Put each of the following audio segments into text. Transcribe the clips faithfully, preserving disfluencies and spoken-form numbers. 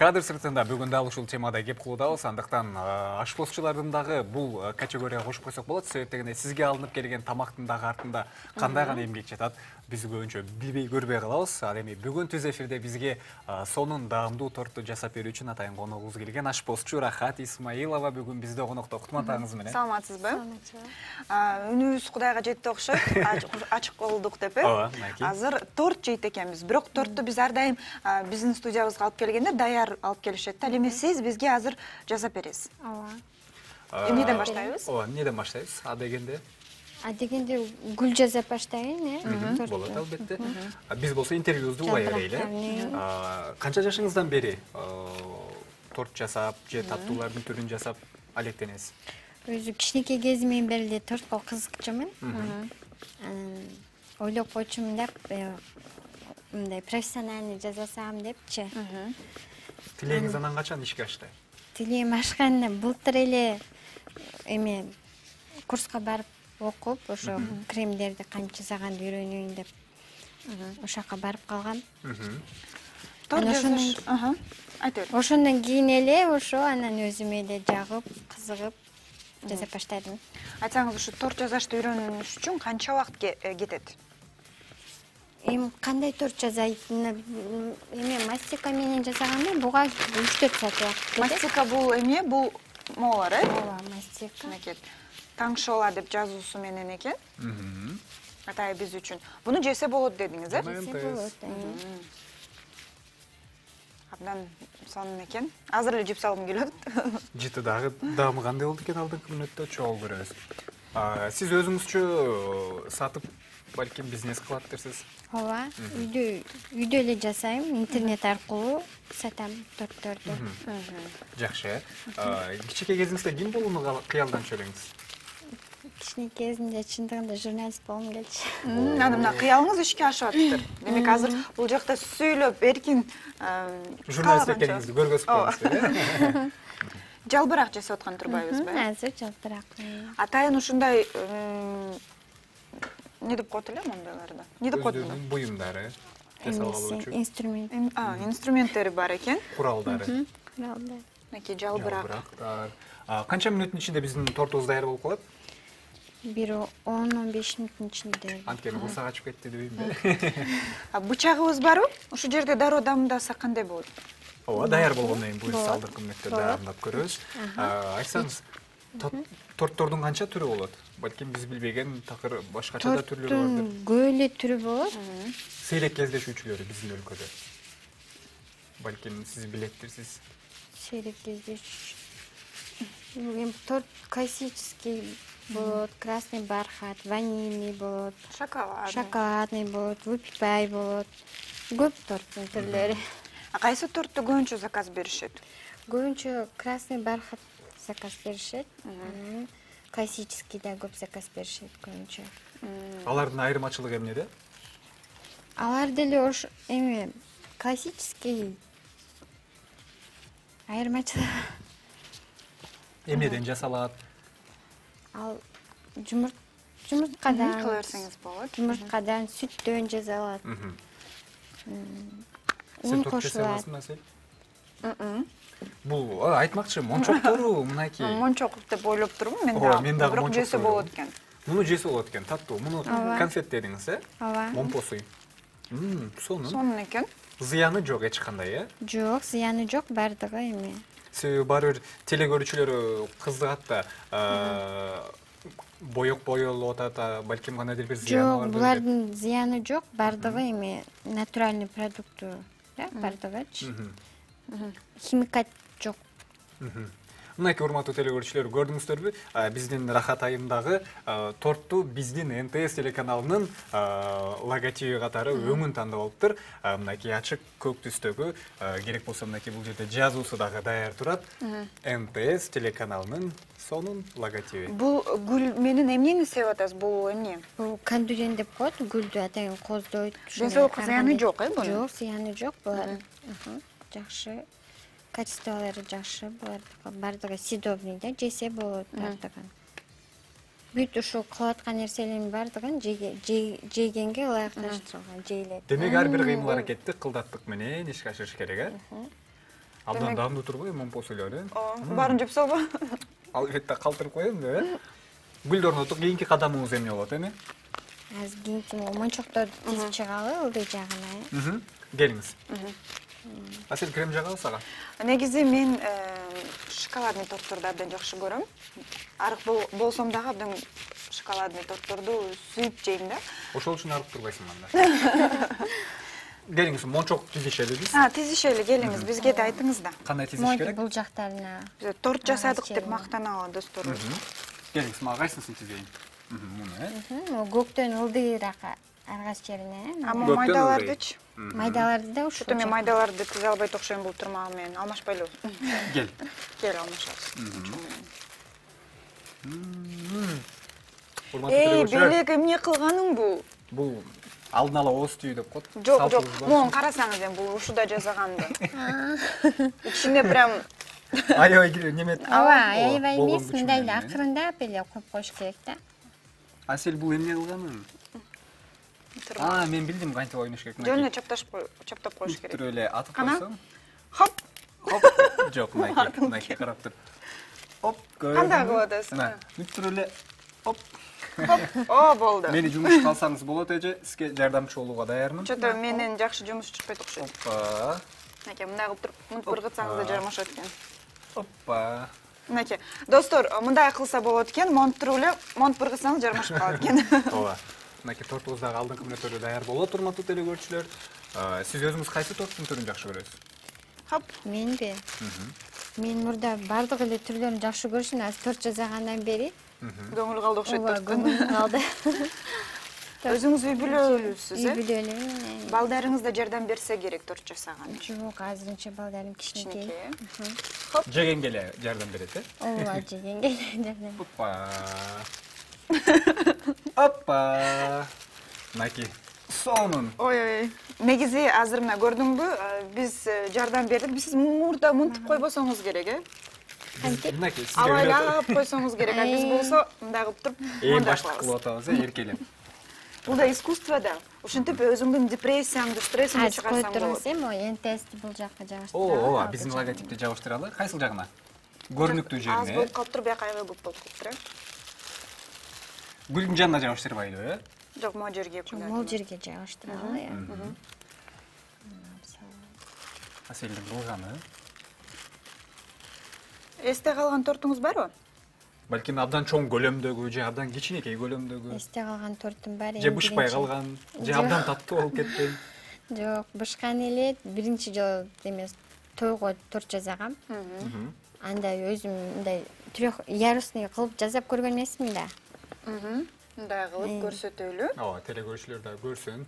Кадр сыртында бүгүн дал ушул темада кеп кылуудабыз. Андыктан ашпозчулардын дагы бул категорияга кошуп койсок болот. Себептегенде сизге алынып келген тамактын дагы артында кандай гана эмгек жатат, биз көбүнчө билбей көрбөй калабыз. Ал эми бүгүн түз эфирде бизге сонун даамдуу торту жасап берүү үчүн атайын коногубуз келген ашпозчу Рахат Исмаилова бүгүн бизде конокто. Кутман менен. Саламатсызбы? Үнүбүз Кудайга жетти окшойт. Ачык болдук деп э. Азыр торт жейт экенбиз. Бирок торту биз ар дайым биздин студиябызга алып келгенде даяр алып келишет. Ал эми сиз бизге азыр жасап бересиз. Ооба. Эмнеден баштайбыз? Ооба, эмнеден баштайбыз? А дегенде А дегенде гүл жасап баштайын, э? Болот, албетте. Биз болсо интервьюбузду улай берели. Канча жашыңыздан бери торт жасап, же таттуулардын түрүн жасап алектенесиз? Өзү кичинекей кезимден бери эле тортко кызыкчумун. Ойлоп койчумун деп, мындай профессиональный жасасам депчи. Тилегиңиз анан качан ишке ашты? Тилегим ашканда былтыр эле эме курска барып окуп, ошо кремдерди кантип жасаганды үйрөнөйүн деп ошол жака барып калгам. Торт жасаш, аха. Айтыр. Ошондон кийин эле ошо анан өзүм эле жагып, кызыгып жасап баштадым. Айтсаңыз, ушу торт жасашты үйрөнүш үчүн канча убакыт кетет? Эми кандай торт жасайтыны эме мастика менен жасаганда буга үч төрт саат убакыт кетет. Мастика бул эме, бул молар, э? Ооба, мастика. Таңшола деп жазуусу менен экен. Атай биз үчүн. Буну жесе болот дедиңиз, э? Жесе болот. Абдан сонун экен. Азыр эле жеп салгым келет. Жыты дагы даамы кандай болду экен алдыңкы мүнөттө чогуу көрөбүз. Сиз өзүңүзчө сатып, балким бизнес кылаттырсыз. Ооба, үйдө үйдө эле жасайм, интернет аркылуу сатам тортторду. Жакшы. Кичинекей кезиңизде ким болууну кыялданчу элеңиз? Кичинекей кезимде чындыгында журналист болгум келчү. Анан мына кыялыңыз ишке ашып атыптыр. Демек азыр бул жакта сүйлөп эркин журналист экениңизди көргөзүп коюңузбу, э? Жалбырак жасап аткан турбайбызбы? Азыр жалбырак. Атайын ушундай не деп коет элем ондойлорду? Не деп коет? Буюмдары жасап алуучу. Инструмент. А, инструменттери бар экен. Куралдары. Куралдар. Мынакей жалбырак. Жалбырактар. Канча мүнөттүн ичинде биздин тортубуз даяр болуп калат? Бир он он беш мүнөттүн ичинде. Анткени курсак ачып кетти дебеймби? Бычагыбыз барбы? Ушул жерде дароо дамдаса кандай болот? Ооба, даяр болгондон кийин буюрса алдыңкы мүнөттө даярдап көрөбүз. Айтсаңыз, тортордун канча түрү болот? Балким биз билбеген такыр башкача да түрлөрү бардыр. Көп эле түрү болот. Сейрек кездешүүчүлөрү биздин өлкөдө. Балким сиз билеттирсиз. Сейрек кездешүүчү. Эми торт классический болот, красный бархат, ванильный болот, шоколадный, шоколадный болот, выпипай болот. Көп торттун түрлөрү. А кайсы тортты көбүнчө заказ беришет? Көбүнчө красный бархат заказ беришет. Классический да көп заказ беришет көбүнчө. Алардын айырмачылыгы эмнеде? Алар деле ош эми классический айырмачылыгы эмнеден жасалат? Ал жумурт жумурткадан кыла берсеңиз болот. Жумурткадан, сүттөн жасалат. Сен торт жасай аласыңбы, сен? Бул айтмакчы, мончоктору мынакей. Мончок деп ойлоп турмун мен да. Бирок жесе болот экен. Муну жесе болот экен, таттуу. Муну конфет дедиңиз, э? Ооба. Момпосуй. Сонун. Сонун экен. Зыяны жок эч кандай, э? Жок, зыяны жок, бардыгы эми. Себеби баары бир телекөрүүчүлөр кызыгат да, боек боелуп атат, балким кандайдыр бир зыяны бар. Жок, булардын зыяны жок, бардыгы эми натуральный продукты, э, бардыгычы. Химикат жок. Мынакей урматтуу телекөрүүчүлөр, көрдүңүздөрбү? Биздин Рахат айымдагы торту биздин эн тэ эс телеканалынын логотиби катары өңүн тандап алыптыр. Мынакей ачык көк түстөгү, керек болсо мынакей бул жерде жазуусу дагы даяр турат. эн тэ эс телеканалынын сонун логотиби. Бул гүл менен эмнени себеп атасыз? Бул эмне? Бул кандурен деп коет, гүлдү атайын коздойт. Денсаулыкка зыяны жок, э, бунун? Жок, зыяны жок, булар. Жакшы. Качестволору жакшы, булар бардыгы съедобный да, жесе болот бардыгы. бүт ушул кылып аткан нерселердин бардыгын жегенге ылайыкташтырылган, жейилет. Демек ар бир кыймыл аракетти кылдаттык менен ишке ашырыш керек, э? Абдан даамдуу турбайбы момпос эле эле? Ооба, баарын жеп салба. Албетте калтырып коем деп, э? Гүлдөрүн орнотуп, кийинки кадамыңыз эмне болот, эми? Азыр кийинки мончокторду тизип чыгалы ылдый жагына. Келиңиз. Асель, крем жагабыз ага? Негизи мен шоколадный тортторду абдан жакшы көрөм. Арык болсом дагы абдан шоколадный тортторду сүйүп жейм да. Ошол үчүн арык турбайсың анда. Келиңиз, мончок тизишели биз. А, тизишели, келиңиз, бизге да айтыңыз да. Кандай тизиш керек? Бул жактарына. Биз торт жасадык деп мактаналы досторубуз. Келиңиз, мага кайсысын тизейин? Муну, э? Көктөн ылдыйраак аргас жерине. А майдалардычы? Майдаларды да ушул. Мен майдаларды тизе албайт окшойм, бул турмагы менен алмашпайлы. Кел. Кел, алмашабыз. Эй, белек эмне кылганың бул? Бул алдын ала ооз түйүү деп коет. Жок, жок. Муну карасаңыз эми бул ушуда жазаганды. Ичинде прям аябай неме. Ооба, аябай эмес, мындай эле акырындап эле коюп коюш керек да. Асель, бул эмне кылганың? А, мен билдим кантип ойнош керек. Жөн чапташып чаптап коюш керек. Туруп эле атып койсоң. Хоп. Хоп. Жок, мынакей, мынакей карап тур. Оп, көрдүңүзбү? Кандай кылып атасыз? Мына, бүт туруп эле. Оп. О, болду. Мени жумуш калсаңыз болот эже, сизге жардамчы болууга даярмын. Чото менен жакшы жумуш чыкпайт окшойт. Опа. Мынакей, мындай кылып туруп, мынтип ыргытсаңыз да жармашат экен. Опа. Мынакей, достор, мындай кылса болот экен, монтуп туруп эле, монтуп ыргытсаңыз жармашып калат экен. Ооба. Мынакей тортубуздагы алдыңкы мүнөттөрү даяр болот, урматтуу телекөрүүчүлөр. Сиз өзүңүз кайсы торттун түрүн жакшы көрөсүз? Хоп. Менби? Мен мурда бардык эле түрлөрүн жакшы көрүшүм, азыр торт жасагандан бери көңүл калды окшойт торттун. Көңүл калды. Өзүңүз үй бүлөлүүсүз, э? Үй бүлөлүү. Балдарыңыз да жардам берсе керек торт жасаган. Жок, азырынча балдарым кичинекей. Хоп. Жегенге эле жардам берет, э? Ооба, жегенге жардам. Опа. Опа. Мынакей. Сонун. Ой-ой. Негизи азыр мына көрдүңбү? Биз жардам бердик. Биз мурда мынтип койбосоңуз керек, э? Мынакей, сизге абайлап койсоңуз керек. А биз болсо мындай кылып туруп, эң башты кылып атабыз, э, эркелеп. Бул да искусство да. Ошентип өзүңдүн депрессияңды, стрессиңди чыгарсаң болот. Туруңуз, эми эн тэ эсти бул жакка жабыштыралы. Ооба, биздин логотипти жабыштыралы. Кайсыл жагына? Көрүнүктүү жерине. Аз болуп калып туруп, бияка айгы болуп калып туруп. Гүлдүн жанына жабыштырбайлыбы, э? Жок, могу жерге. Могул жерге жабыштыралы, э. Аселдин кылганы. Эсте калган тортуңуз барбы? Балким абдан чоң көлөмдөгү, же абдан кичинекей көлөмдөгү. Эсте калган тортум бар. Же бышпай калган, же абдан таттуу болуп кеткен. Жок, бышкан эле биринчи жолу эмес, тойго торт жасагам. Анда өзүм мындай трёх ярусный кылып жасап көргөн эмесмин да. Мындай кылып көрсөтөлү. Ооба, телекөрүүчүлөр да көрсүн.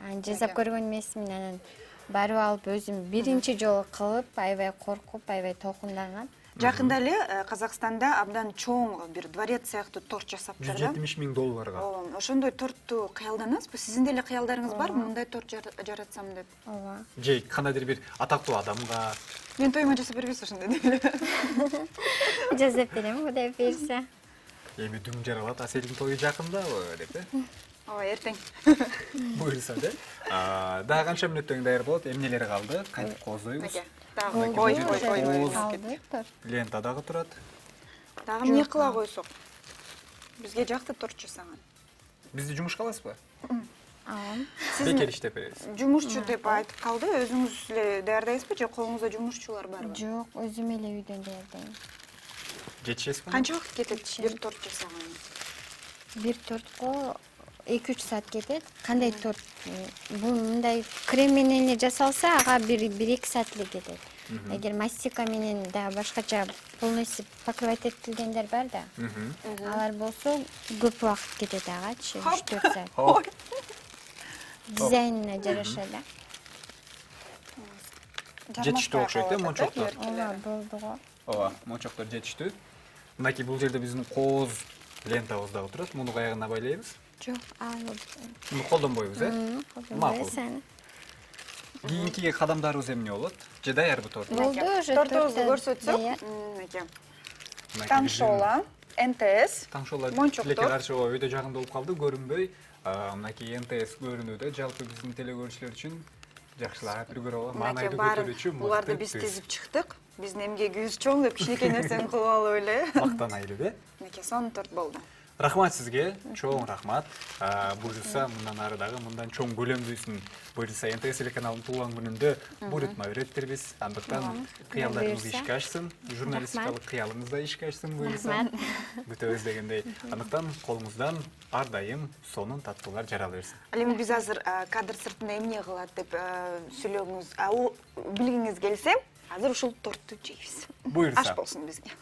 Аны жасап көргөн эмесмин, анан барып алып өзүм биринчи жолу кылып, аябай коркуп, аябай толкунданган. Жакында эле Казакстанда абдан чоң бир дворец сыяктуу торт жасаптыр да. жүз жетимиш миң долларга. Ооба, ошондой тортту кыялданасызбы? Сиздин деле кыялдарыңыз барбы, мындай торт жаратсам деп? Ооба. Же кандайдыр бир атактуу адамга. Мен тоюма жасап бербейсиз ошондой деле. Жасап берем, Кудай буйрса. Эми дүң жаралат, Аселдин тою жакындабы деп, э? Ооба, эртең. Буйрса деп. Дагы канча мүнөттөн даяр болот? Эмнелери калды? Кантип кооздойбуз? Дагы ой, ой, ой, ой. Лента дагы турат. Дагы эмне кыла койсок? Бизге жакты торт жасаган. Бизди жумушка аласызбы? Алам. Бекер иштеп беребиз. Жумушчу деп айтып калды. Өзүңүз эле даярдайсызбы же колуңузда жумушчулар барбы? Жок, өзүм эле үйдөн даярдайм. Жетишесизби? Канча убакыт кетет бир торт жасаганга? Бир тортко эки үч саат кетет. Кандай торт? Бул мындай крем менен эле жасалса, ага бир эки саат эле кетет. Эгер мастика менен да башкача полностью покрывать этилгендер бар да. Алар болсо көп убакыт кетет агачы, үч төрт саат. Дизайнына жараша да. Жетиштүү окшойт, э, мончоктор. Ооба, болду го. Ооба, мончоктор жетиштүү. Мынакей бул жерде биздин кооз лентабыз дагы турат. Муну каягына байлайбыз? Жок, алып. Муну колдонбойбуз, э? Макул. Кийинки кадамдарыбыз эмне болот? Же даярбы торт? Болду, уже тортубузду көрсөтсөк. Мынакей. Таңшола, эн тэ эс. Таңшола мончоктор. тилекке каршы өйдө жагында болуп калды, көрүнбөй. Мынакей эн тэ эс көрүнүүдө. Жалпы биздин телекөрүүчүлөр үчүн жакшылап үлгөрүп алып Мынакей маанайды баарын көтөрүүчү буларды биз тизип чыктык. Биздин эмгегибиз чоң деп кичинекей нерсени кылып алып эле. Мактанайлы, э? Мынакей сонун торт болду. Рахмат сизге, чоң рахмат. Буюрса, мындан ары дагы мындан чоң көлөмдүүсүн буюрса эн тэ эс телеканалынын туулган күнүндө бул ритм үйрөттүрбүз. Андыктан кыялдарыңыз ишке ашсын, журналистикалык кыялыңыз да ишке ашсын буюрса. Күтөбүз дегендей. Андыктан колуңуздан ар дайым сонун таттуулар жарала берсин. Ал эми биз азыр кадр сыртында эмне кылат деп сүйлөгүңүз, билгиңиз келсе, азыр ушул торту жейбиз. Буюрса. Аш болсун бизге.